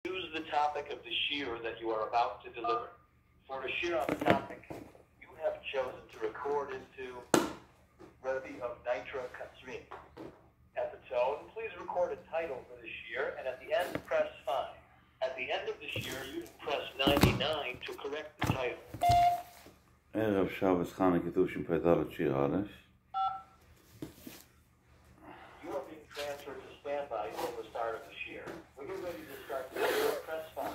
Choose the topic of the shiur that you are about to deliver. For a shiur on the topic, you have chosen to record into Rebbe of Nitra Katzrin. At the tone, please record a title for the shiur, and at the end, press 5. At the end of the shiur, you can press 99 to correct the title. ערב שבת חנוכה תשפ"ד שיעור א'. You are being transferred to standby till the start of the shiur. When you're ready to start the shiur, press 5.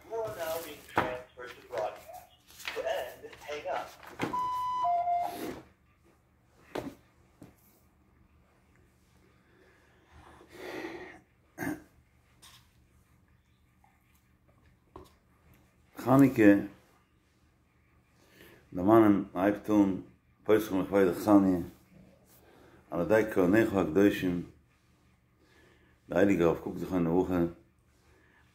You are now being transferred to broadcast. To end, hang up. חנוכה, דערמאנען מ'הייבט אן פותחין לכבוד אכסניא, על ידי כהניך הקדושים, די הייליגע רב קוק זכרונו לברכה, דאס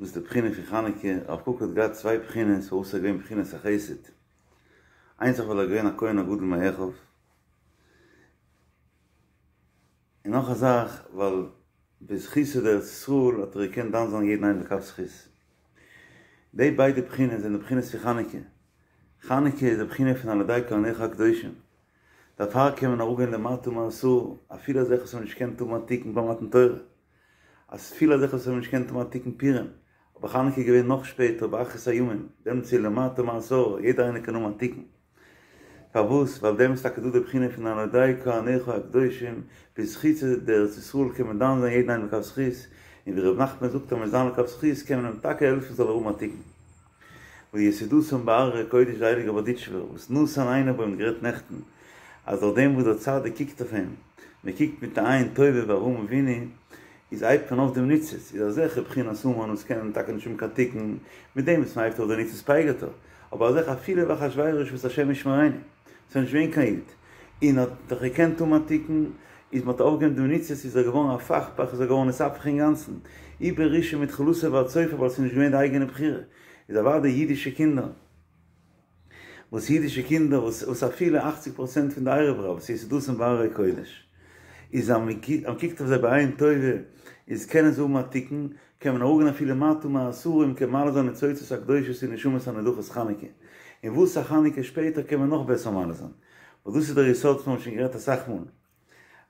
איז די בחינה פון חנוכה, רב קוק האט געהאט צוויי בחינות פארוואס איז ער געווען בחינת החסד, איינס זאך ווייל ער איז געווען א כהן הגדול מאחיו, און נאך א זאך ווייל בזכותו דארץ ישראל האט ער געקענט דן זיין יעדן איינעם לכף זכות. די ביידע בחינות זענען די בחינות פון חנוכה. חנוכה איז די בחינה פון על ידי כהניך הקדושים. דערפאר קען מען אראפגיין למטה מעשרה, אפילו אזעלכע וואס האבן נישט געקענט האבן א תיקון ביי מתן תורה. אפילו אזעלכע וואס האבן נישט געקענט האבן א תיקון פורים. אבער חנוכה איז געווען נאך שפעטער באחרית הימים, דעמאלטס איז למטה מעשרה, יעדער איינער קען האבן א תיקון. פארוואס? ווייל דעמאלטס איז טאקע דא די בחינה פון על ידי כהניך הקדושים, בזכותו דארץ ישראל קען מען דן זיין יעדן איינעם לכף זכות, און ווי ר' נחמן זאגט אז מען איז דן לכף זכות קען מען אים טאקע העלפן זאל ער האבן א תיקון. ויסודתם בהררי קודש די הייליגע בארדיטשובער וואס נתן עיניו בהם גערעדט נעכטן אז דורך דעם וואס דער צדיק קוקט אויף אים, מען קוקט מיט א עין טובה ווי אברהם אבינו, איז הייבט מען אויף דעם ניצוץ, איז אזעלכע בחינת המן וואס קענען טאקע נישט האבן קיין תיקון, מיט דעם וואס מען הייבט אויף דער ניצוץ פייגערט ער, אבער אזעלכע אפילו ואחשורוש וואס השם ישמרינו, ס'איז נישט געווען קיין איד, און האט דאך געקענט האבן א תיקון, איז מען האט אויפגעהויבן דעם ניצוץ איז ער געווארן הפכפך איז ער געווארן נתהפך אינגאנצן, עובר ראשון מתחילתו ועד סופו ווייל ס'איז נישט געווען די אייגענע בחירה, איז אוודאי אידישע קינדער. וואס אידישע קינדער וואס וואס אפילו אכציג פראצענט פון די ערב רב וואס יסודתם בהררי קודש איז אז מען קוקט אויף זיי בעין טובה איז קענען זיי האבן א תיקון קען מען אראפגיין אפילו למטה מעשרה און קען מעלה זיין ניצוצות הקדושות און נשמות הנדחות חנוכה און וואס א חנוכה שפעטער קען מען נאך בעסער מעלה זיין וואס דאס איז דער יסוד וואס מיר האבן שוין גערעדט אסאך מאל.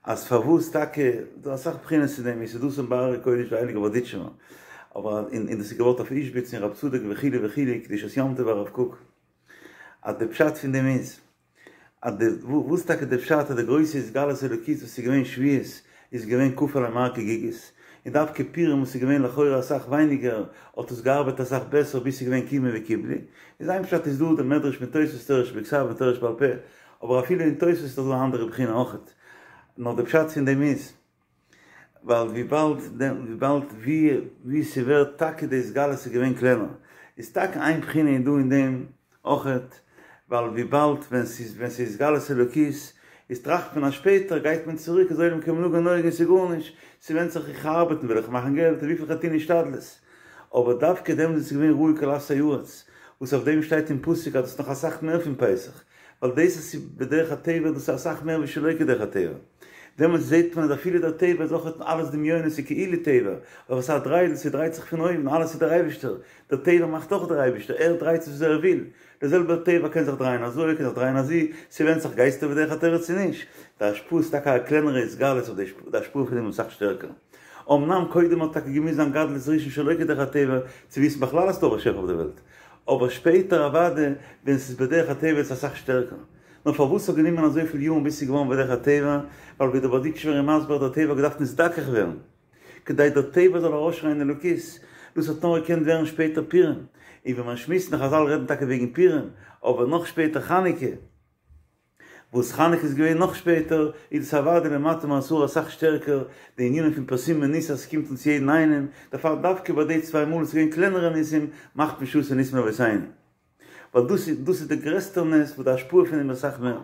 אז פארוואס טאקע, דא אסאך בחינות צו דעם, יסודתם בהררי קודש די הייליגע בארדיטשובער, אבער און דאס איז געבויט אויף איזשביץ און רב צדוק וכו' וכו', קדושת יום טוב הרב קוק, אז די פשט פון דעם איז, אז די, וואס טאקע די פשט אז די גרויסע התגלות אלוקית וואס איז געווען שבועות איז געווען כפה עליהם הר כגיגית, און דווקא פורים וואס איז געווען לכאורה אסאך ווייניגער האט עס געארבעט אסאך בעסער ביז ס'איז געווען קימו וקיבלו, איז איין פשט איז דא די מדרש מיט תוספות תורה שבכתב און תורה שבעל פה, אבער אפילו אין תוספות איז דאך דא א אנדערע בחינה אויכעט. נאר די פשט פון דעם איז, ווייל וויבאלד וויבאלד ווי ווי ס'ווערט טאקע די התגלות איז געווען קלענער, איז טאקע איין בחינה איז דא אין דעם אויכעט, ווייל וויבאלד ווען ס'איז ווען ס'איז התגלות אלוקית, איז טראכט מען אז שפעטער גייט מען צוריק איז עולם כמנהגו נוהג און ס'איז גארנישט, ס'ווענדט זיך איך ארבעטן וויל איך מאכן געלט און וויפיל איך טון השתדלות. אבער דווקא דעמאלט איז געווען ראו כל אפסי ארץ, וואס אויף דעם שטייט אין פסוק אז דאס איז נאך אסאך מער פון פסח, ווייל דאס אז ס'איז בדרך הטבע דאס איז אסאך מער ווי שלא כדרך הטבע. דעמאלטס זעט מען אז אפילו דער טבע איז אויך אלעס דמיונות ס'איז כאילו טבע, אבער ס'איז א דריידל, ס'דרייט זיך פון אויבן, אלעס איז דער אייבערשטער, דער טבע מאכט אויך דער אייבערשטער, ער דרייט עס וויאזוי ער וויל, דער זעלבער טבע קען זיך דרייען אזוי, קען זיך דרייען אזוי, ס'ווענדט זיך גייסטו בדרך הטבע צו נישט, די השפעה איז טאקע א קלענערע התגלות אבער די השפעה פון דעם איז אסאך שטערקער. אמנם קודם האט טאקע געמוזט זיין גדלות ראשון שלא כדרך הטבע צו וויסן בכלל אז ס'דא א באשעפער אויף די וועלט, אבער שפעטער אוודאי ווען ס'איז בדרך הטבע איז עס אסאך שטערקער. נאר פארוואס ס'האט גענומען אזויפיל יארן ביז ס'איז געווארן בדרך הטבע, ווייל ווי דער בארדיטשובער איז מסביר האט דער טבע געדארפט נזדכך ווערן כדי דער טבע זאל ארויסשרייען אלוקות, דאס האט נאר געקענט ווערן שפעטער פורים, און ווי מען שמועסט נאך חזל רעדן טאקע וועגן פורים, אבער נאך שפעטער חנוכה. וואס חנוכה איז געווען נאך שפעטער, איז דאס אוודאי למטה מעשרה אסאך שטערקער, די ענינים פון פרסומי ניסא אז ס'קומט אונז יעדן איינעם, דערפאר דווקא ביי די צוויי מאל וואס איז געווען קלענערע ניסים, מאכט מען שעשו ניסים לאבותינו. ווייל דאס איז דאס איז די גרעסטע נס וואס די השפעה פון דעם איז אסאך מער.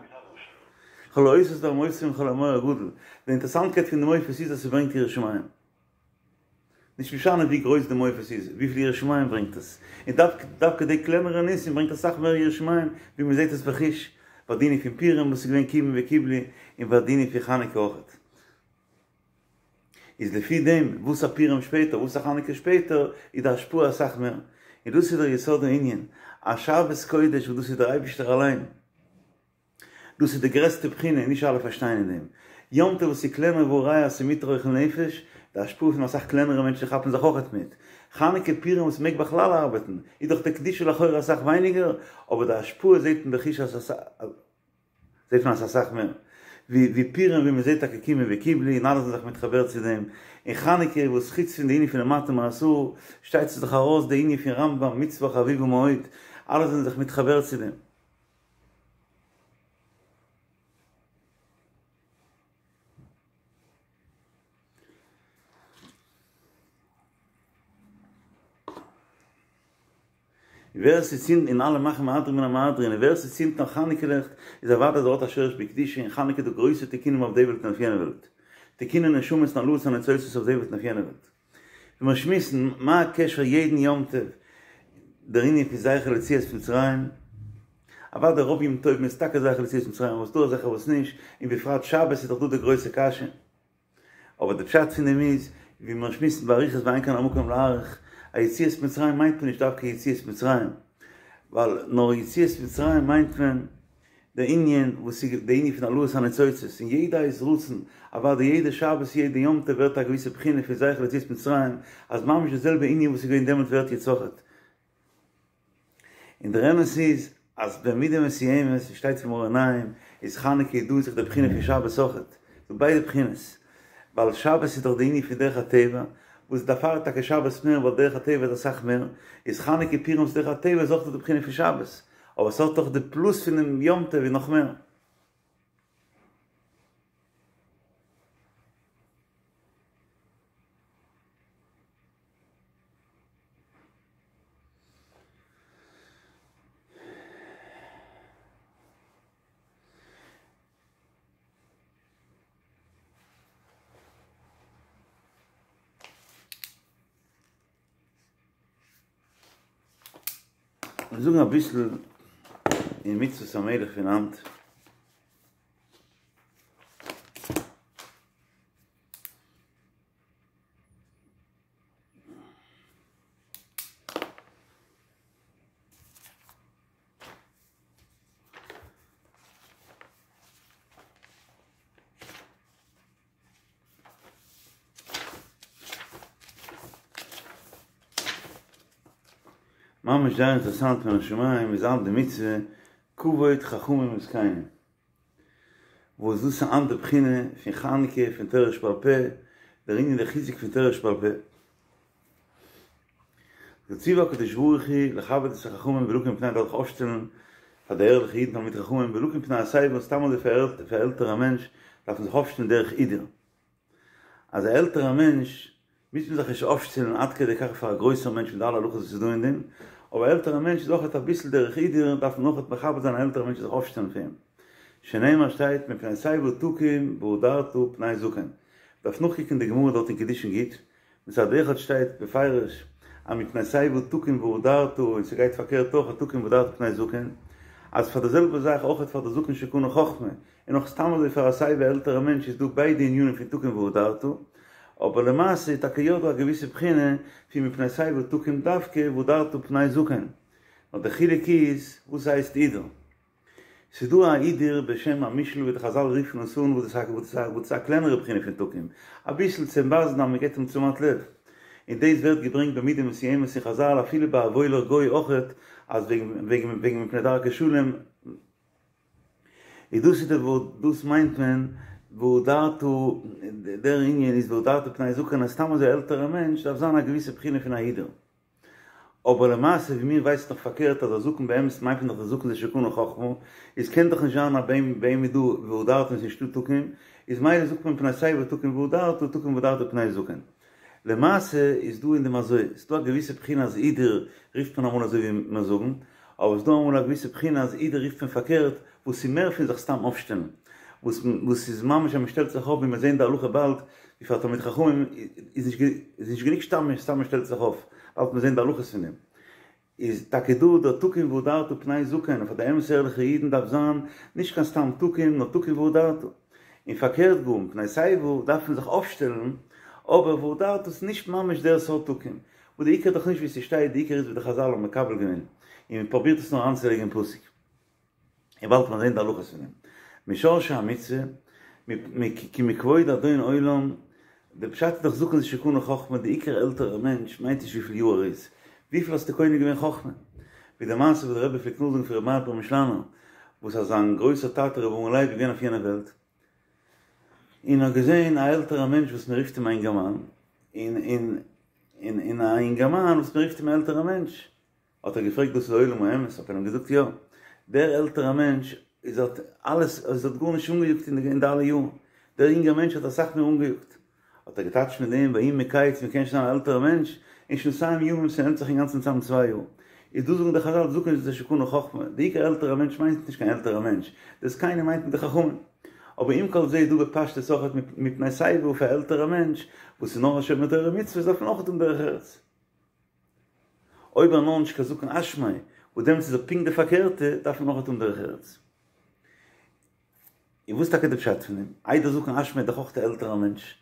כל האותות והמופתים וכל המאור הגדול. די אינטערעסאנטקייט פון די מופת איז אז ס'ברענגט יראת שמים. נישט משנה ווי גרויס די מופת איז, וויפיל יראת שמים ברענגט עס. און דווקא דווקא די קלענערע ניסים ברענגט אסאך מער יראת שמים ווי מען זעט עס בחוש, ביי די ענין פון פורים וואס איז געווען קימו וקיבלו, און ביי די ענין פון חנוכה אויכעט. איז לפי דעם וואס א פורים שפעטער וואס א חנוכה שפעטער איז די השפעה אסאך מער, און דאס איז דער יסוד הענין, א שבת קודש וואס דאס איז דער אייבישטער אליין, דאס איז די גרעסטע בחינה און נישט אלע פארשטייען אין דעם. יום טוב וואס איז קלענער והא ראיה אז ס'איז מותר אוכל נפש, די השפעה פון אסאך קלענערע מענטשן כאפן זיך אויכעט מיט. חנוכה פורים וואס מ'מעג בכלל ארבעטן, איז דאך די קדושה לכאורה אסאך ווייניגער, אבער די השפעה זעט מען בחוש אז זעט מען אז אסאך מער. ווי ווי פורים ווי מ'זעט טאקע קימו וקיבלו און אלע זענען זיך מתחבר צו דעם, און חנוכה וואס חוץ פון די ענין פון למטה מעשרה שטייט זיך דאך ארויס די ענין פון רמב"ם מצוה חביבה מאוד, אלע זענען זיך מתחבר צו דעם. ווער ס'צינדט און אלע מאכן מהדרין מן המהדרין און ווער ס'צינדט נאך חנוכה לעכט איז אוודאי אז ער האט א שורש בקדושה און חנוכה איז דא גרויסע תיקונים אויף די וועלט און אויף יענע וועלט תיקוני נשמות און העלאת הניצוצות אויף די וועלט און אויף יענע וועלט. ווען מיר שמועסן מה הקשר יעדן יום טוב דער ענין פון זכר ליציאת מצרים, אוודאי רוב יום טובים איז טאקע זכר ליציאת מצרים אבער ס'דא אזעלכע וואס נישט, און בפרט שבת איז דאך דא די גרויסע קשיא. אבער די פשט פון דעם איז, ווי מיר שמועסן באריכות ואין כאן המקום להאריך, א יציאת מצרים מיינט מען נישט דווקא יציאת מצרים, ווייל נאר יציאת מצרים מיינט מען די ענין וואס איז די ענין פון העלאת הניצוצות אין יעדע עת רצון, אוודאי יעדע שבת יעדע יום טוב ווערט א געוויסע בחינה פון זכר ליציאת מצרים, אז ממש די זעלבע ענין וואס איז געווען דעמאלט ווערט יעצט אויכעט. און דער אמת איז אז במידה מסוימת, ווי שטייט פון מאור עיניים, איז חנוכה איז דא אין זיך די בחינה פון שבת אויכעט, ס'דא ביידע בחינות, ווייל שבת איז דאך די ענין פון דרך הטבע, וואס דערפאר איז טאקע שבת מער ווייל דרך הטבע איז אסאך מער, איז חנוכה פורים וואס דרך הטבע איז אויך דא די בחינה פון שבת. אבער ס'האט דאך די פלוס פונעם יום טוב איז נאך מער. מיר זאגן אביסל אין מצוות המלך פון היינט. ממש זייער אינטערעסאנט מן השמים איז היינט די מצוה כבוד חכמים וזקנים וואס דאס איז היינט די בחינה פון חנוכה פון תורה שבעל פה דער ענין די חיזוק פון תורה שבעל פה וציוה הקדוש ברוך הוא לכבד את החכמים ולקום מפני דארף זיך אויפשטעלן פאר די ערליכע אידן תלמידי חכמים ולקום מפני השיבה און סתם אזוי פאר עלטערע מענטש דארף מען זיך אויפשטעלן דרך הידור אז א עלטערע מענטש מוז מען זיך נישט אויפשטעלן עד כדי כך פאר א גרויסער מענטש מיט די אלע הלכות וואס איז דא אין דעם, אבער א עלטערע מענטש איז אויכעט אביסל דרך הידור דארף מען אויכעט מכבד זיין א עלטערע מענטש און זיך אויפשטעלן פאר אים. שנאמר שטייט מפני שיבה תקום והדרת פני זקן. דארף נאכקוקען די גמרא דארט אין קידושין גוט, מצד אחד שטייט בפירוש אז מפני שיבה תקום והדרת און ס'גייט פארקערט אויך תקום והדרת פני זקן, אז פאר די זעלבע זאך אויכעט פאר די זקן שקנה חכמה, און אויך סתם אזוי פאר א סיי ווי עלטערע מענטש איז דא ביידע ענינים פון תקום והדרת, אבער למעשה איז טאקע יא דא א געוויסע בחינה פון מפני שיבה תקום דווקא והדרת פני זקן, נאר די חילוק איז וואס הייסט הידור. ס'איז דא א הידור בשם המושאל ווי די חזל רופן עס אן וואס דאס איז א קלענערע בחינה פון תקום, אביסל צו אים ווייזן אז מ'געבט אים תשומת לב, און דאס ווערט געברענגט במידה מסוימת אין חזל אפילו ביי א וואוילער גוי אויכעט אז וועגן וועגן וועגן מפני דרכי שלום, איז דאס איז די ווארט דאס מיינט מען והדרת דער ענין איז והדרת פני זקן אז סתם אזוי עלטערע מענטש דארף זיין א געוויסע בחינה פון א הידור. אבער למעשה ווי מיר ווייסן דאך פארקערט אז א זקן באמת מיינט מען דאך די זקן זה שקנה חכמה, איז קען דאך נישט זיין אז ביי אים ביי אים איז דא והדרת און ס'איז נישטא תקום, איז מילא זאגט מען מפני שיבה תקום והדרת תקום והדרת פני זקן. למעשה איז דא אין דעם אזוי, ס'איז דא א געוויסע בחינה אז הידור רופט מען אמאל אזוי ווי מיר זאגן, אבער ס'איז דא אמאל א געוויסע בחינה אז הידור רופט מען פארקערט, וואס איז מער פון זיך סתם אויפשטעלן, וואס וואס איז ממש אז מ'שטעלט זיך אויף ווי מיר זעהן די הלכה באלד, ווי פאר תלמיד חכמים איז נישט איז נישט גענוג סתם סתם מ'שטעלט זיך אויף, באלד מיר זעהן די הלכות פון דעם. איז טאקע דא דער תקום והדרת פני זקן, און פאר די אמת'ע ערליכע אידן דארף זיין נישט קיין סתם תקום נאר תקום והדרת. און פארקערט גאר, מפני שיבה דארף מען זיך אויפשטעלן, אבער והדרת איז נישט ממש דער סארט תקום, וואס די עיקר איז דאך נישט ווי ס'שטייט, די עיקר איז ווי די חזל האבן מקבל געווען, און מען פרובירט עס נאר איינצולייגן אין פסוק. און באלד וועט מען זען די הלכות פון דעם. משרשי המצוה, כי מכבוד אדון עולם, די פשט איז דאך זקן זה שקנה חכמה, די עיקר עלטערער מענטש מיינט נישט וויפיל יאר ער איז, וויפיל האסטו קונה געווען חכמה? ווי די מעשה וואס די רבי פלעגט נאכזאגן פון רבי מאיר פרעמישלאנער, וואס אז זיין גרויסער טאטע רבי אברהם לייב איז געווען אויף יענע וועלט, און האט געזען א עלטערע מענטש וואס מען רופט אים א אינגערמאן, און און און און א אינגערמאן וואס מען רופט אים א עלטערע מענטש, האט ער געפרעגט דאס איז עולם האמת? האט ער אים געזאגט יא, דער עלטערע מענטש איז האט אלעס איז האט גארנישט אנגעיאגט אין די אלע יארן, דער אינגער מענטש האט אסאך מער אנגעיאגט, האט ער געטייטשט מיט דעם ויהי מקץ מען קען נישט זיין א עלטערע מענטש, אין שנתיים ימים ס'נעמט זיך אינגאנצן צאם צוויי יאר, איז דא זאגן די חזל זקן זה שקנה חכמה, די עיקר עלטערע מענטש מיינט נישט קיין עלטערע מענטש, די זקנים מיינט מען די חכמים, אבער עם כל זה איז דא בפשטות אויך מפני שיבה פאר עלטערע מענטש וואס איז נאר א שומר תורה ומצוות דארף מען אויך האבן דרך ארץ. אויב ער נאר נישט קיין זקן אשמאי, וואס דעמאלטס איז ער פונקט די פארקערטע, דארף מען אויך האבן דרך ארץ. און וואס טאקע די פשט פון דעם? איי דער זקן אשמאי איז דאך אויך א עלטערער מענטש,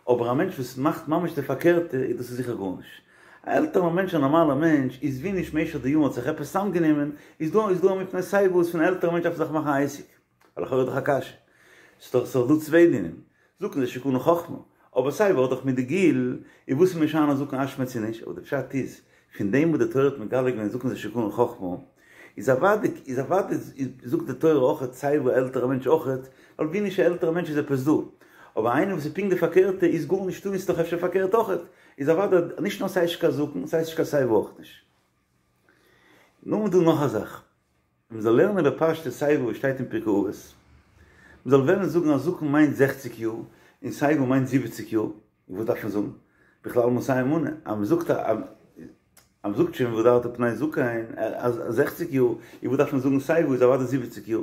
אבער א מענטש וואס מאכט ממש די פארקערטע איז דאס איז זיכער גארנישט. א עלטערער מענטש א נארמאלער מענטש איז ווי נישט משך די יארן האט זיך עפעס צוזאמגענומען, איז דא איז דא א מפני שיבה וואס פון א עלטערע מענטש דארף זיך מאכן א עסק. ווייל לכאורה איז דאך א קשיא. ס'איז דאך דא צוויי דינים. זקן זה שקנה חכמה. אבער שיבה האט דאך מיט די גיל, איז וואס איז משנה זקן אשמאי צו נישט? אבער די פשט איז, פון דעם וואס די תורה האט מגלה געווען זקן זה שקנה חכמה, איז אוודאי איז אוודאי זאגט די תורה אויכעט שיבה עלטערע מענטש אויכעט, ווייל ווי נישט א עלטערע מענטש איז עפעס דא. אבער איינער וואס איז פונקט די פארקערטע איז גארנישט דא און ס'איז דאך אפשר פארקערט אויכעט. איז אוודאי נישט נאר ס'הייסט נישט קיין זקן, ס'הייסט נישט קיין שיבה אויך נישט. נאכדעם איז דא נאך א זאך. מען זאל לערנען בפשטות שיבה וואס שטייט אין פרקי אבות, מען זאל וועלן זאגן אז זקן מיינט זעכציג יאר און שיבה מיינט זיבעציג יאר, וואס דארף מען זאגן? בכלל מאתים מנה, אז מען זאגט אז מען זאגט שוין והדרת פני זקן אז זעכציג יאר, איז וואס דארף מען זאגן שיבה איז אוודאי זיבעציג יאר.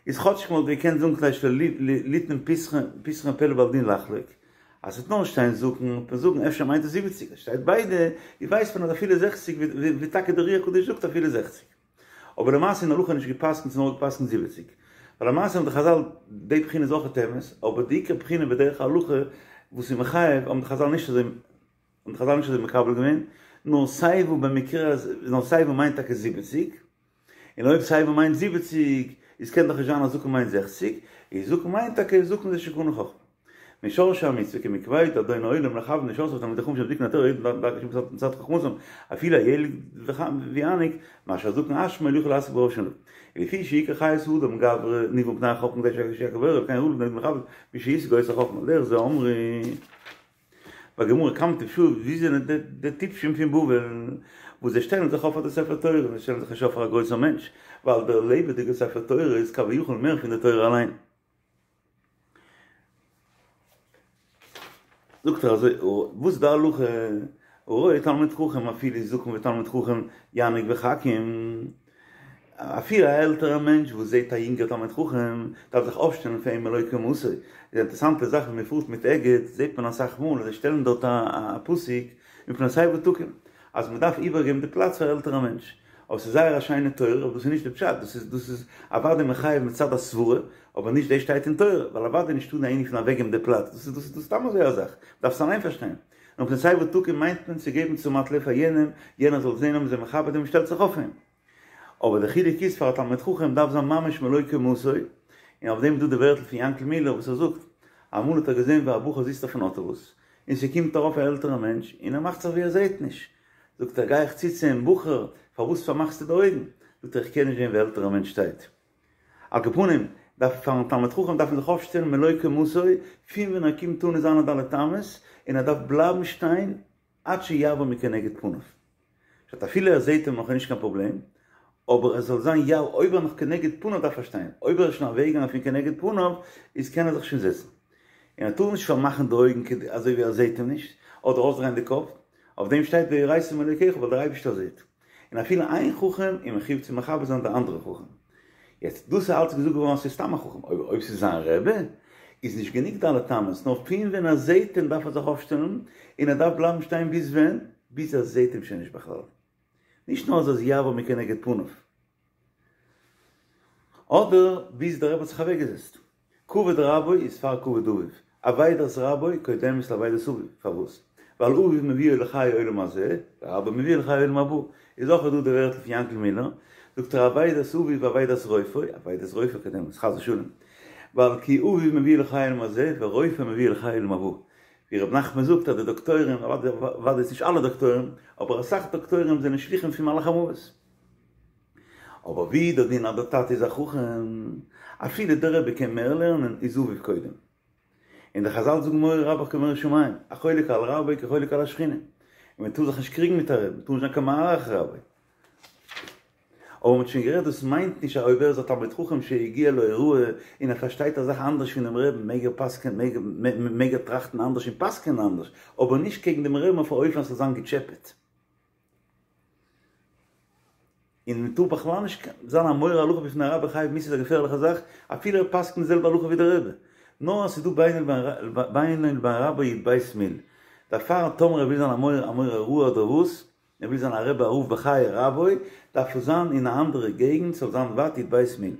איז כאטשיג מען וואלט געקענט זאגן כדי שלא ליתן פתחון פה לבעל דין לחלוק, אז ס'וועט נאר שטיין זקן וועט מען זאגן אפשר מיינט עס זיבעציג, עס שטייט ביידע, איז ווייסט מען אז אפילו זעכציג ווי טאקע דער אר"י הקדוש זאגט אפילו זעכציג. אבער למעשה אין הלכה נישט געפסקנט ס'איז נאר געפסקנט זיבעציג. ווייל למעשה האבן די חזל די בחינה איז אויכעט אמת, אבער די עיקר בחינה בדרך ההלכה וואס איז מחייב האבן די חזל נישט אזוי האבן די חזל נישט אזוי מקבל געווען, נאר שיבה במקרה אז נאר שיבה מיינט טאקע זיבעציג. און אויב שיבה מיינט זיבעציג, איז קען דאך נישט זיין אז זקן מיינט זעכציג, איז זקן מיינט טאקע זקן זה שקנה חכמה. משרשי המצוה כי מכבוד אדון העולם לכבד משרתיו תלמידי חכמים שהם זקני התורה יודעים דרכי השם מצד חכמתם אפילו הילד ויניק מה שהזקן אשמאי לא יכול להשיג ברוב שניו. ולפי שעיקר חיות האדם גברא נברא מפני החכמה כדי שיכיר בוראו וכן ראוי לבני אדם לכבד מי שהשיג אותה חכמה על דרך זה אמרו. בגמרא כמה טפשאי ווי זענען די טיפשים פון בבל וואס זיי שטעלן זיך אויף פאר די ספר תורה און זיי שטעלן זיך נישט אויף פאר א גרויסער מענטש ווייל דער לעבעדיגער ספר תורה איז כביכול מער פון די תורה אליין. זאגט ער אזוי וואס איז די הלכה הרואה תלמיד חכם אפילו זקן ותלמיד חכם יניק וחכים אפילו א עלטערע מענטש וואס זעט א יונגער תלמיד חכם דארף זיך אויפשטעלן פאר אים מלא קומתו. איז א אינטערעסאנטע זאך ווען מען פארט מיט אגד זעט מען אסאך מאל אז זיי שטעלן דארט א פסוק מפני שיבה תקום אז מען דארף איבערגעבן די פלאץ פאר עלטערע מענטש. אבער ס'איז זייער א שיינע תורה אבער דאס איז נישט די פשט דאס איז דאס איז אוודאי מחייב מצד הסברה אבער נישט דאס שטייט אין תורה ווייל אוודאי נישטא די ענין פון אוועקגעבן די פלאץ דאס איז דאס איז סתם אזוי א זאך מען דארף עס אליין פארשטיין. נאר מפני שיבה תקום מיינט מען צו געבן תשומת לב פאר יענעם, יענער זאל זען אז מ'איז אים מכבד און מ'שטעלט זיך אויף אים. אבער די חילוק איז פאר א תלמיד חכם דארף זיין ממש מלא קומתו, און אויף דעם איז דא די ווערטל פון יענקל מילער וואס ער זאגט, אמאל האט ער געזען ווי א בחור זיצט אויפן אוטובוס, און ס'קומט ארויף א עלטערע מענטש און ער מאכט זיך ווי ער זעט נישט, זאגט ער גיי איך צו צו אים, בחור פארוואס פארמאכסטו די אויגן? זאגט ער איך קען נישט זען ווי א עלטערע מענטש שטייט. על כל פנים, דארף פארן תלמיד חכם דארף מען זיך אויפשטעלן מלא קומתו, פון ווען ער קומט אן אין זיינע ד' אמות, און ער דארף בלייבן שטיין עד שיעבור מכנגד פניו. פשט אפילו ער זעהט אים נאך איז נישט קיין פראבלעם, אבער עס זאל זיין יא אויב ער נאך כנגד פניו דארף ער שטיין, אויב ער איז שוין אוועקגעגאנגען פון כנגד פניו, איז קען ער זיך שוין זעצן. און ער טאר נישט פארמאכן די אויגן אזוי ווי ער זעהט אים נישט, אדער אויסדרייען די קאפ, אויף דעם שטייט ויראת מאלקיך ווייל דער אייבערשטער זעהט. און אפילו איין חכם איז מחויב צו מכבד זיין די אנדערע חכם. יעצט, דאס איז אלץ געזאגט געווארן אז ס'איז סתם א חכם, אבער אויב ס'איז זיין רבי, איז נישט גענוג ד' אמות, נאר פון ווען ער זעהט אים דארף ער זיך אויפשטעלן, און ער דארף בלייבן שטיין ביז ווען? ביז ער זעהט אים שוין נישט בכלל. נישט נאר אז ער איז יעבור מכנגד פניו. אדער ביז דער רבי האט זיך אוועקגעזעצט. כבוד רבו איז פאר כבוד אביו. אבידת רבו קודמת לאבידת אביו, פארוואס? ווייל אביו מביאו לחיי עולם הזה, ורבו מביאו לחיי עולם הבא, איז אויך דא די ווערטל פון יענקל מילער, זאגט ער אבידת אביו ואבידת רופאו, אבידת רופאו קודמת, חס ושלום, ווייל כי אביו מביאו לחיי עולם הזה, ורופאו מביאו לחיי עולם הבא, ווי ר' נחמן זאגט אז די דאקטוירים, אוודאי איז נישט אלע דאקטוירים, אבער אסאך דאקטוירים זענען שליחים פון מלאך המוות. אבער ווי דער דין אז דער טאטע איז א חכם, אפילו דער רבי קען מער לערנען, איז אביו קודם. און די חזל זאגן מורא רבך כמורא שמים, החולק על רבו כחולק על השכינה. און מען טאר זיך נישט קריגן מיט א רבי, מען טאר נישט זיין קיין מערער אחר רבו. אבער מען האט שוין גערעדט דאס מיינט נישט אז אויב ער איז א תלמיד חכם שהגיע להוראה און ער פארשטייט א זאך אנדערש פונעם רעבן מעג ער פסק'ען מעג ער טראכטן אנדערש און פסק'ענען אנדערש, אבער נישט קעגן דעם רעבן אויף א אופן אז ס'זאל זיין געטשעפעט. און מען טאר בכלל נישט זיין א מורה הלכה בפני רבו חייב מיתה איז א געפערליכע זאך, אפילו ער פסק'נט די זעלבע הלכה ווי דער רבי, נאר אז ס'איז דא בינו לבין רבו י"ב מיל, דערפאר טאמער ער וויל זיין א מורה א מורה הוראה אדער וואס, ער וויל זיין א רבי א רב בחיי רבו, דארף עס זיין אין א אנדערע געגנט, ס'זאל זיין ווייט י"ב מיל.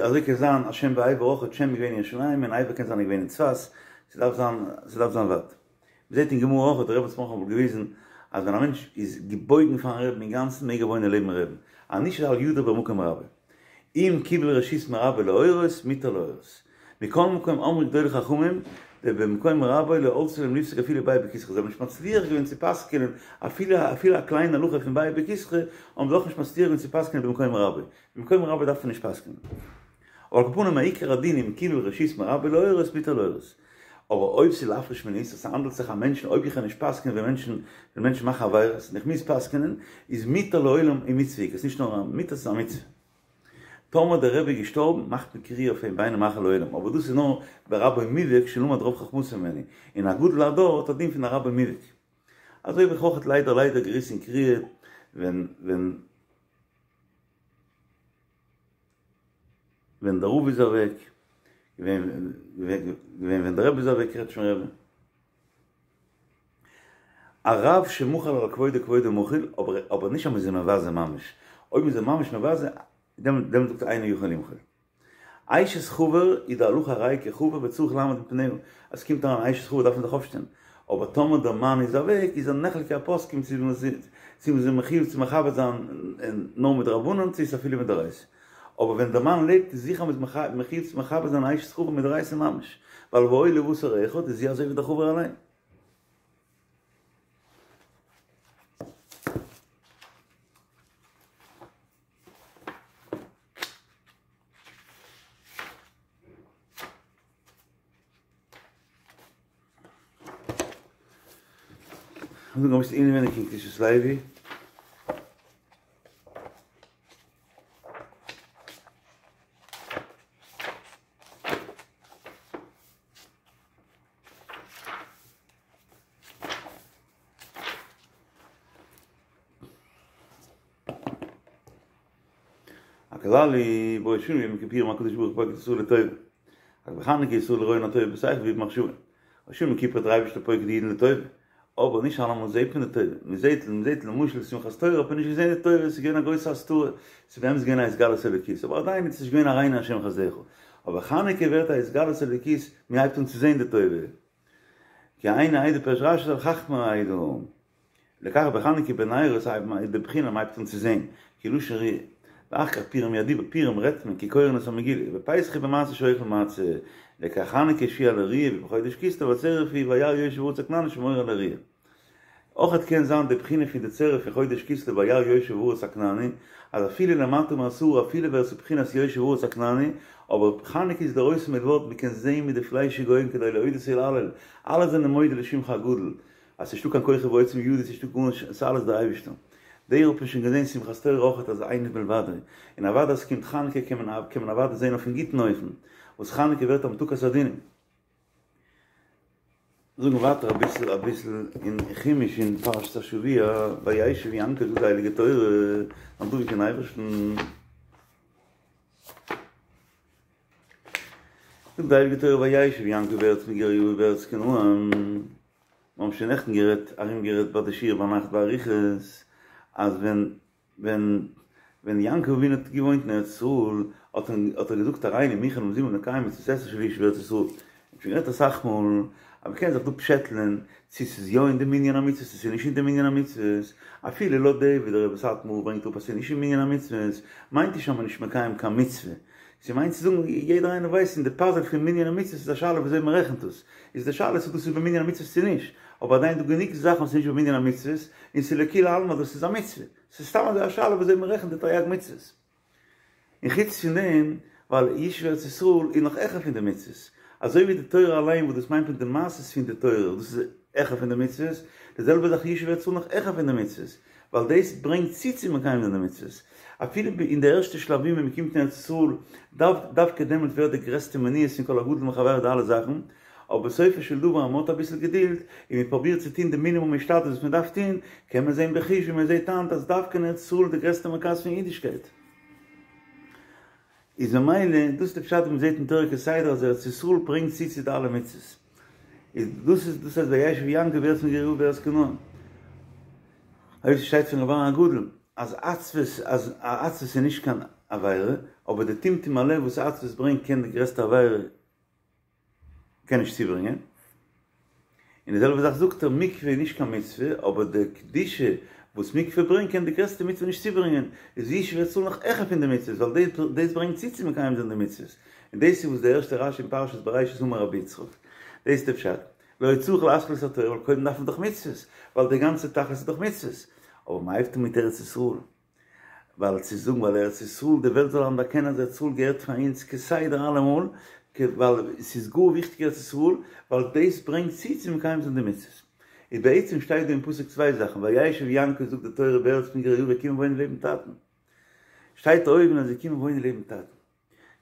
אזוי קען זיין אז שם ועבר אויך, שם איז געווען אין ירושלים און עבר קען זיין איז געווען אין צפת, ס'דארף זיין ס'דארף זיין ווייט. מ'זעט אין גמרא אויך, דער רבי האט אמאל געוויזן אז ווען א מענטש איז געבויגן פארן רעבן אינגאנצן מעג ער וואוינען לעבן רעבן, אז נישט איז אל ידור במקום רבו. אם קיבל רשות מרבו להורות, מותר להורות. מכל מקום אמרו גדולי חכמים, דבמקום רבו לא עלתה להם לפסוק אפילו ביעי בכיסחא, זיי האבן נישט מצליח געווען צו פסק'ענען אפילו אפילו א קליינע הלכה פון ביעי בכיסחא, האבן זיי אויך נישט מצליח געווען צו פסק'ענען במקום רבו. במקום רבו דארף מען נישט פסק'ענען. אבער על כל פנים מעיקר הדין אם קיבל רשות מרבו להורות מותר להורות. אבער אויב ס'איז להפריש מן האיסור ס'האנדלט זיך א מענטשן אויב איך קען נישט פסק'ענען ווען מענטשן ווען מענטשן מאכן עבירות און איך מוז פסק'ענען איז מותר לעולם ומצוה איז נישט נאר א מותר ס'איז א מצוה. טאמער דער רבי איז געשטארבן מאכט מען קריעה אויף אים ואינו מאחר לעולם אבער דאס איז נאר ברבו מובהק שלמד רוב חכמתו ממנו און א גדול הדור האט א דין פון א רבו מובהק. אזוי האב איך אויכעט ליידער ליידער געריסן קריעה ווען ווען ווען דער רב איז אוועק, געווען געווען ווען דער רבי איז אוועק קרעטשמער רבי. א רב שמחל על כבודו כבודו מחול, אבער אבער נישט אז מ'איז אים מבזה ממש, אויב מ'איז אים ממש מבזה, דעמאלט זאגט ער אינו יכול למחול. אשת חבר איז די הלכה הרי כחבר וצריך לעמוד מפניה, אז ס'קומט אריין אשת חבר דארף מען זיך אויפשטעלן, אבער טאמער דער מאן איז אוועק איז נחלקו הפוסקים צו צו מ'איז מחויב צו מכבד זיין נאר מדרבנן צו איז אפילו מדאורייתא, אבער ווען דער מאן לעבט איז זיכער מ'איז מחויב צו מכבד זיין אשת חבר מדאורייתא ממש, ווייל והיו לבשר אחד איז זי אזוי ווי דער חבר אליין. זאגן אביסל אינעווייניג אין קדושת לוי. הכלל הוא בראש השנה וביום הכיפורים הקדוש ברוך הוא פוקד ישראל לטובה. רק בחנוכה ישראל רואין הטובה בשכל ובמחשבה. ראש השנה יום כיפור האט דער אייבערשטער פוקד די אידן לטובה. אבער נישט אלעמאל זעט מען די טובה. מען זעט, מען זעט למשל שמחת תורה האט מען נישט געזען די טובה, עס איז געווען א גרויסע הסתרה, עס איז באמת געווען א התגלות אלוקית, אבער עדיין איז עס נישט געווען הראנו השם חסדך. אבער חנוכה ווערט א התגלות אלוקית, מען הייבט אן צו זען די טובה. כי עיני העדה פירש רש"י ז"ל חכמי העדה. לכך בחנוכה בנרות איז די בחינה מ'הייבט אן צו זעהן, כי לשון ראיה. ואחר כך פורים הוא הדיבור, פורים רעדט מען כי קורין את המגילה, ובפסח הוא במעשה שאוכל מצה, לכך חנוכה שהוא על הראיה ובחודש כסלו הצירוף הוא וירא יושב הארץ הכנעני שמורה על הראיה. אויכעט קען זיין די בחינה פון די צירוף פון חודש כסלו וירא יושב הארץ הכנעני, אז אפילו למטה מעשרה אפילו ווער עס איז בחינת יושב הארץ הכנעני, אבער חנוכה איז לראות מלבד מ'קען זעהן מיט די פליישיגע אויגן כדי להודות ולהלל, אלע זענען מודה לשמך הגדול, אז ס'נישטא קיין כוחי ועוצם ידי, ס'נישטא גארנישט, ס'איז אלעס דער אייבערשטער. דער האט מען שוין געזען שמחת תורה אויכעט אז אין עוד מלבדו, און אוודאי אז ס'קומט חנוכה קען מען קען מען אוודאי זען אויפן גוטן אופן, וואס חנוכה ווערט המתקת הדינים. זאגן ווייטער אביסל אביסל אין חומש אין פרשת השבוע, וישב יעקב זאגט די הייליגע תורה, א דבוק אין אייבערשטן, זאגט די הייליגע תורה וישב יעקב בארץ מגורי אביו בארץ כנען, מיר האבן שוין נעכטן גערעדט ארום גערעדט ביי די שיעור ביינאכט באריכות, אז ווען ווען ווען יעקב אבינו האט געוואוינט אין ארץ ישראל. האט ער געזאגט הריני מוכן ומזומן לקיים מצות עשה של ישוב ארץ ישראל. מ'האט שוין גערעדט אסאך מאל אז מ'קען זיך דא פשעטלען צו ס'איז יא אין די מנין המצוות צו ס'איז נישט אין די מנין המצוות, אפילו לויט די ווי דער רבי סאטמאר ברענגט אראפ אז ס'איז נישט אין מנין המצוות, מיינט נישט אז מ'איז נישט מקיים קיין מצוה, ס'מיינט צו זאגן יעדער איינער ווייסט אין די פאזעל פון מנין המצוות איז א שאלה וויאזוי מ'רעכנט עס, איז די שאלה צו דאס איז במנין המצוות צו נישט, אבער עדיין דא גענוג זאכן וואס איז נישט במנין המצוות און ס'איז לכולי עלמא אז דאס איז א מצוה, ס'איז סתם אזוי א שאלה וויאזוי מ'רעכנט די תרי"ג מצוות. און חוץ פון דעם, ווייל ישוב ארץ ישראל איז נאך העכער פון די מצוות, אזוי ווי די תורה אליין וואס דאס מיינט מיט די מעשות פון די תורה, דאס איז העכער פון די מצוות, די זעלבע זאך ישוב ארץ ישראל נאך העכער פון די מצוות, ווייל דאס ברענגט צו צו מקיים זיין די מצוות. אפילו אין די ערשטע שלבים ווען מען קומט אין ארץ ישראל, דווקא דעמאלט ווערט די גרעסטע מניעות פון כל הגדול מחבירו די אלע זאכן, אבער בסופו של דבר אז מען האט אביסל געדולד און מען פרובירט צו טון די מינימום השתדלות וואס מען דארף טון, קען מען זען בחוש ווי מען זעט היינט אז דווקא אין ארץ ישראל איז די גרעסטע מרכז פון אידישקייט. איז ממילא דאס איז די פשט וואס מען זעט אין תורה כסדר אז ארץ ישראל ברענגט צו צו די אלע מצוות. איז דאס איז דאס הייסט וישב יעקב בארץ מגורי אביו בארץ כנען. אויב ס'שטייט פון ר' אהרן הגדול אז עצבות אז עצבות איז נישט קיין עבירה, אבער די טמטום הלב וואס עצבות ברענגט קען די גרעסטע עבירה קען נישט צוברענגען. און די זעלבע זאך זאגט ער, מקווה איז נישט קיין מצוה, אבער די קדושה וואס מקווה ברענגט קען די גרעסטע מצוה נישט צוברענגען, איז ישוב ארץ ישראל נאך העכער פון די מצוות, ווייל דאס ברענגט צו צו מקיים זיין די מצוות. און דאס איז וואס די ערשטע רשי אין פרשת בראשית אמר רבי יצחק. דאס איז די פשט. לא היה צריך להתחיל את התורה, ווייל קודם דארף מען דאך מצוות, ווייל די גאנצע תכלית איז דאך מצוות. אבער מ'הייבט אן מיט ארץ ישראל. ווייל צו זאגן ווייל ארץ ישראל די וועלט זאל אנערקענען אז ארץ ישראל געהערט פאר אונז כסדר אלעמאל, ווייל ס'איז גאר וויכטיג ארץ ישראל, ווייל דאס ברענגט צו צו מקיים זיין די מצוות. איז בעצם שטייט דא אין פסוק צוויי זאכן, וישב יעקב זאגט די תורה בארץ מגורי אביו קומען וואוינען לעבן טאטן. שטייט אויבן אז זיי קומען וואוינען לעבן טאטן.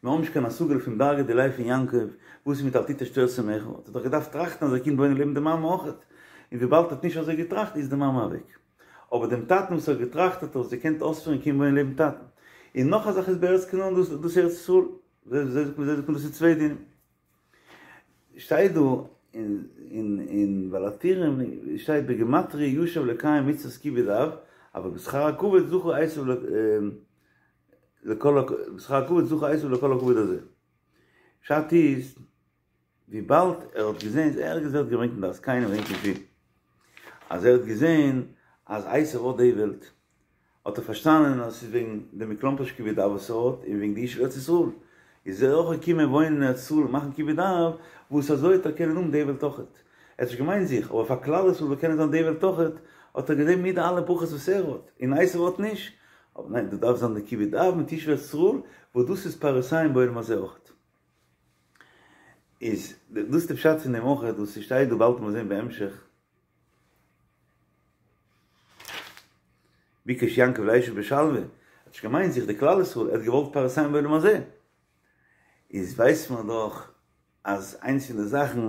מיר האבן נישט קיין השגה פון דרגא דיליה פון יעקב, וואס איז מיט אל תטוש תורת אמך, האט ער דאך געדארפט טראכטן אז ער קומט וואוינען לעבן די מאמע אויכעט, און וויבאלד ער האט נישט אזוי געטראכט איז די מאמע אוועק. אבער דעם טאטן וואס ער האט געטראכט האט ער עס געקענט אויספירן קומען וואוינען לעבן טאטן. און נאך א זאך איז בארץ כנען דאס דאס ארץ ישראל, אזוי זאגט מען דאס איז צוויי דינים. שטייט דא אין אין אין בעל הטורים שטייט בגימטריא ישב לקיים מצוות כיבוד אב, אבל בשכר הכבוד זכה עשו לכל בשכר הכבוד זכה עשו לכל הכבוד הזה. פשט איז, וויבאלד ער האט געזען, ערגעץ ווערט געברענגט אין דעת זקנים געדענק נישט ווי, אז ער האט געזען אז עשו האט די וועלט, האט ער פארשטאנען אז ס'איז וועגן די מכלומר'שט כיבוד אב וואס ער האט, און וועגן די ישוב ארץ ישראל, איז ער אויך געקומען וואוינען אין ארץ ישראל און מאכן כיבוד אב, וואס אזוי וועט ער קענען האבן די וועלט אויכעט. ער האט נישט געמיינט זיך, אבער פאר כלל ישראל זאל קענען זיין די וועלט אויכעט, האט ער געזען מיט די אלע ברכות וואס ער האט, און עשו האט נישט, אבער ניין, דא דארף זיין די כיבוד אב מיט ישוב ארץ ישראל, וואס דאס איז פירותיהם בעולם הזה אויכעט. איז דאס איז די פשט פון דעם אויכעט וואס ס'שטייט דא באלד וועט מען זען בהמשך. ביקש יעקב לישב בשלווה, האט נישט געמיינט זיך די כלל ישראל, ער האט געוואלט פירותיהם בעולם הזה. איז ווייסט מען דאך אז איינס פון די זאכן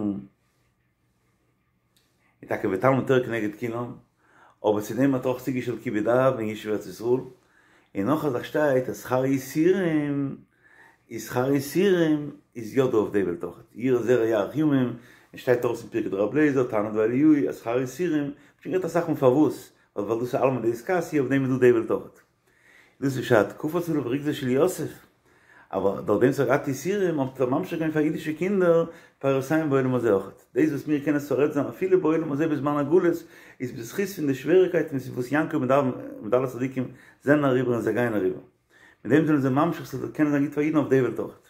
איז טאקע ותלמוד תורה כנגד כולם, אבער צו דעם האט ער אויך צוגעשטעלט כיבוד אב און ישוב ארץ ישראל, און נאך א זאך שטייט אז שכר יסורים איז שכר יסורים איז יא דא אויף די וועלט אויכעט, יראה זרע יאריך ימים, און שטייט אויס אין פרקי דרבי אליעזר, תנא דבי אליהו אז שכר יסורים, מ'האט שוין גערעדט אסאך מאל פארוואס, ווייל דאס איז עלמא דאתכסיא אויף דעם איז דא די וועלט אויכעט. דאס איז פשט, קפץ עליו רוגזו של יוסף, אבער דורך דעם וואס ער האט געהאט יסורים האט ער ממשיך געווען פאר אידישע קינדער פירותיהם בעולם הזה אויכעט. דאס וואס מיר קענען שורד זיין אפילו בעולם הזה בזמן הגלות איז בזכות פון די שוועריקייטן וואס יעקב מיט אלע צדיקים זענען אריבער און זיי גייען אריבער. מיט דעם זענען זיי ממשיך ס'זאל קענען זיין גוט פאר אידן אויף די וועלט אויכעט.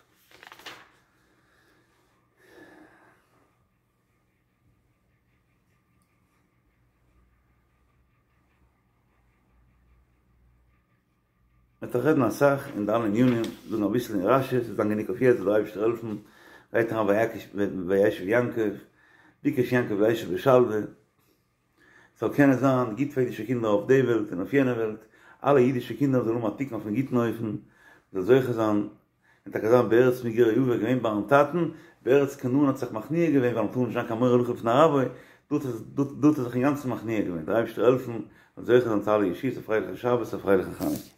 מ'וועט דאך רעדן אסאך אין די אלע ענינים, זאגן אביסל אין רשי, ס'וועט זיין גענוג אויף יעצט, זאל דער אייבערשטער העלפן, גייט אריין וישב יעקב, ביקש יעקב לישב בשלווה, ס'זאל קענען זיין גוט פאר אידישע קינדער אויף די וועלט און אויף יענע וועלט, אלע אידישע קינדער זאלן האבן א תיקון אויפן גוטן אופן, מ'זאל זוכה זיין און טאקע זיין בארץ מגורי אביו געווען ביים טאטן, בארץ כנען האט זיך מכניע געווען ווייל מ'טאר נישט זיין קיין מורה הלכה בפני רבו, דארט האט ער זיך אינגאנצן מכניע געווען, דער אייבערשטער העלפן מ'זאל זוכה זיין צו אלע ישועות, א פרייליכן שבת, א פרייליכן חנוכה.